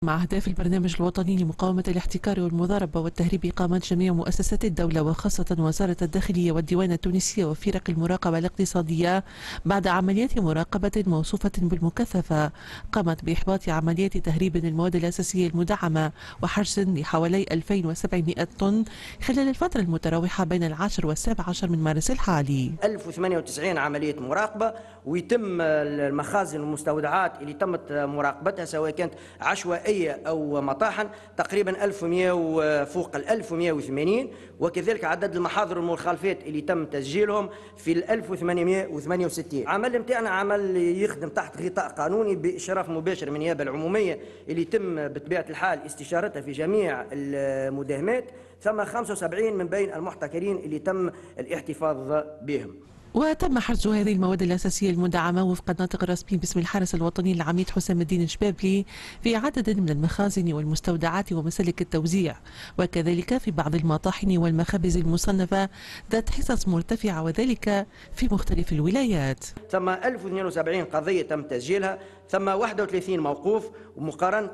مع أهداف البرنامج الوطني لمقاومة الاحتكار والمضاربة والتهريب، قامت جميع مؤسسات الدولة وخاصة وزارة الداخلية والديوان التونسية وفرق المراقبة الاقتصادية بعد عمليات مراقبة موصوفة بالمكثفة، قامت بإحباط عمليات تهريب المواد الأساسية المدعمة وحجز لحوالي 2700 طن خلال الفترة المتراوحة بين 10 و17 من مارس الحالي. 1098 عملية مراقبة، ويتم المخازن والمستودعات اللي تمت مراقبتها سواء كانت عشوائية أو مطاحن تقريبا 1100 فوق 1180، وكذلك عدد المحاضر والمخالفات اللي تم تسجيلهم في 1868. عمل متاعنا عمل يخدم تحت غطاء قانوني بإشراف مباشر من النيابة العمومية اللي تم بطبيعة الحال استشارتها في جميع المداهمات، ثم 75 من بين المحتكرين اللي تم الاحتفاظ بهم. وتم حجز هذه المواد الأساسية المدعمة وفق الناطق الرسمي باسم الحرس الوطني العميد حسام الدين الشبابلي في عدد من المخازن والمستودعات ومسالك التوزيع، وكذلك في بعض المطاحن والمخابز المصنفة ذات حصص مرتفعة، وذلك في مختلف الولايات. ثم 1072 قضية تم تسجيلها، ثم 31 موقوف، ومقارنة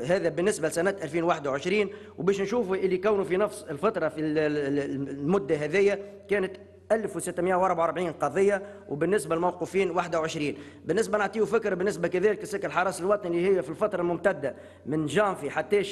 هذا بالنسبة لسنة 2021، وباش نشوفوا اللي كونوا في نفس الفترة في المدة هذية كانت 1644 قضية، وبالنسبة للموقوفين 21. بالنسبة نعطيه فكرة بالنسبة كذلك لسلك الحرس الوطني اللي هي في الفترة الممتدة من جانفي حتى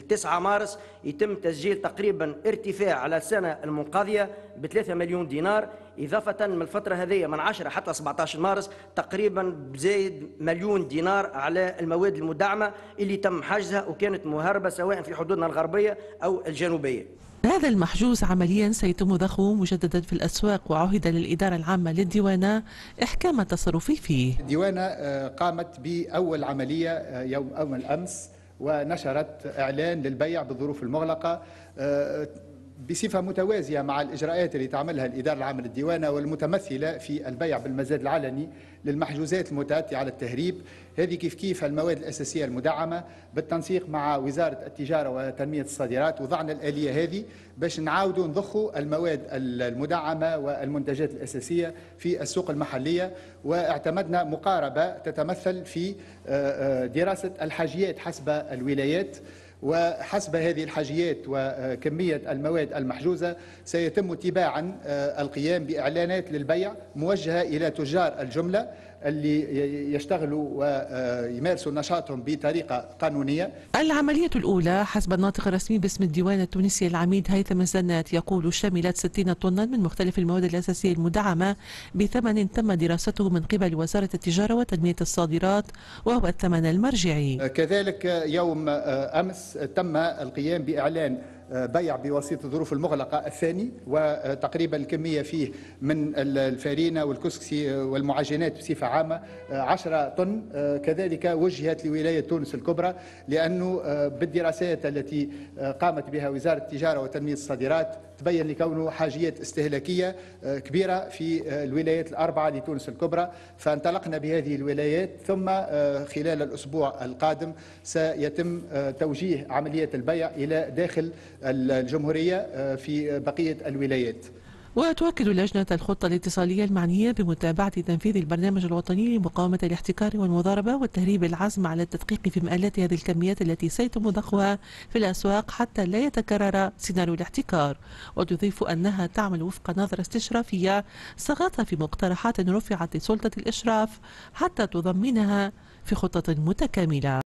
9 مارس يتم تسجيل تقريبا ارتفاع على السنة المنقضية ب 3 مليون دينار، إضافة من الفترة هذه من 10 حتى 17 مارس تقريبا بزايد مليون دينار على المواد المدعمة اللي تم حجزها وكانت مهربة سواء في حدودنا الغربية أو الجنوبية. هذا المحجوز عمليا سيتم ضخه مجددا في الأسواق، وعهد للإدارة العامة للديوانة إحكام التصرف فيه. الديوانة قامت بأول عملية يوم أول أمس ونشرت إعلان للبيع بالظروف المغلقة بصفة متوازية مع الإجراءات اللي تعملها الإدارة العامة للديوانة والمتمثلة في البيع بالمزاد العلني للمحجوزات المتأتية على التهريب. هذه كيف كيف المواد الأساسية المدعمة بالتنسيق مع وزارة التجارة وتنمية الصادرات وضعنا الآلية هذه باش نعاودوا نضخوا المواد المدعمة والمنتجات الأساسية في السوق المحلية، واعتمدنا مقاربة تتمثل في دراسة الحاجيات حسب الولايات، وحسب هذه الحاجيات وكمية المواد المحجوزة سيتم تباعا القيام بإعلانات للبيع موجهة إلى تجار الجملة اللي يشتغلوا ويمارسوا نشاطهم بطريقة قانونية. العملية الأولى حسب الناطق الرسمي باسم الديوان التونسي العميد هيثم الزنات يقول شملت 60 طنا من مختلف المواد الأساسية المدعمة بثمن تم دراسته من قبل وزارة التجارة وتنمية الصادرات، وهو الثمن المرجعي. كذلك يوم أمس تم القيام بإعلان بيع بواسطة الظروف المغلقة الثاني، وتقريبا الكمية فيه من الفارينة والكسكسي والمعجنات بصفة عامة 10 طن. كذلك وجهت لولاية تونس الكبرى، لأنه بالدراسات التي قامت بها وزارة التجارة وتنمية الصادرات تبين لكونه حاجيات استهلاكية كبيرة في الولايات الأربعة لتونس الكبرى، فانطلقنا بهذه الولايات، ثم خلال الأسبوع القادم سيتم توجيه عملية البيع إلى داخل الجمهورية في بقية الولايات. وتؤكد لجنة الخطة الاتصالية المعنية بمتابعة تنفيذ البرنامج الوطني لمقاومة الاحتكار والمضاربة والتهريب العزم على التدقيق في مآلات هذه الكميات التي سيتم ضخها في الأسواق حتى لا يتكرر سيناريو الاحتكار. وتضيف أنها تعمل وفق نظرة استشرافية صاغتها في مقترحات رفعت لسلطة الإشراف حتى تضمنها في خطة متكاملة.